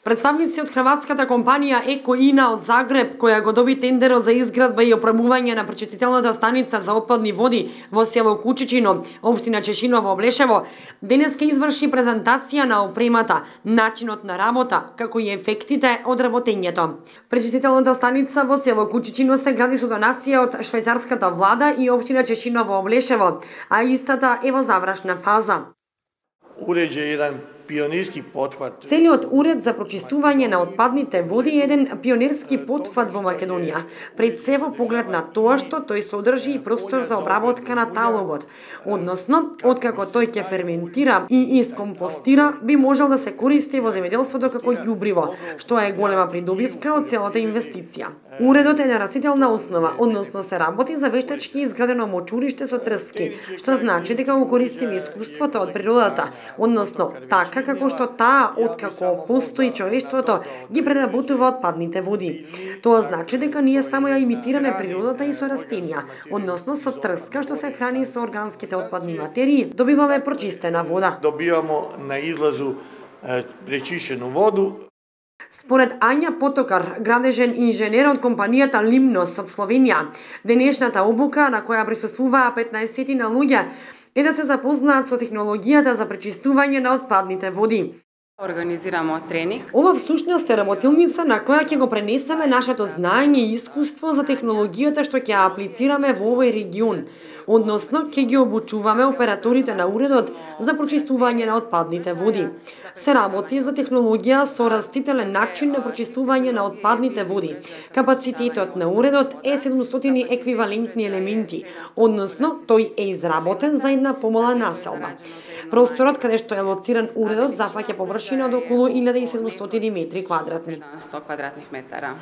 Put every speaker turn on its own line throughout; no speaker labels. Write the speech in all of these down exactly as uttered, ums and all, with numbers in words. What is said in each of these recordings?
Представници од хрватската компанија Еко-Ина од Загреб, која го доби тендерот за изградба и опремување на пречистителната станица за отпадни води во село Кучичино, општина Чешиново, Облешево, денеска изврши презентација на опремата, начинот на работа, како и ефектите од работењето. Пречистителната станица во село Кучичино се гради со донација од швајцарската влада и општина Чешиново, Облешево, а истата е во завршна фаза.
Уреđe jedan pionirski pothvat.
Целиот уред за прочистување на отпадните води е еден пионерски потфат во Македонија, пред се во поглед на тоа што тој содржи и простор за обработка на талогот, односно, откако тој ќе ферментира и искомпостира, би можел да се користи во земјоделството како ѓубриво, што е голема придобивка од целата инвестиција. Уредот е на растителна основа, односно се работи за вештачки изградено мочуриште со трски, што значи дека го користиме искуството од природата, односно така како што таа, откако постои човештвото, ги преработува отпадните води. Тоа значи дека ние само ја имитираме природата и со растенија, односно со трска што се храни со органските отпадни материи, добиваме прочистена вода.
Добивамо на излазу е, пречишену воду.
Според Ања Потокар, градежен инженер од компанијата Limnos од Словенија, денешната обука на која присуствуваа петнаесет на луѓе е да се запознаат со технологијата за пречистување на отпадните води.
Организирамо тренинг.
Ова всушност е работилница на која ќе го пренесеме нашето знаење и искуство за технологијата што ќе аплицираме во овој регион, односно ќе ги обучуваме операторите на уредот за прочистување на отпадните води. Се работи за технологија со растителен начин на прочистување на отпадните води. Капацитетот на уредот е седумстотини еквивалентни елементи, односно тој е изработен за една помала населба. Просторот каде што е лоциран уредот зафаќа површина од околу илјада и седумстотини метри квадратни.
сто квадратних метара.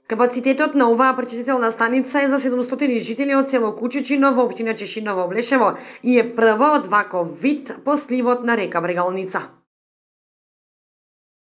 Капацитетот на оваа пречистителна станица е за седумстотини жители од село Кучичино во општина Чешиново, Облешево и е прва од ваков вид по сливот на река Брегалница.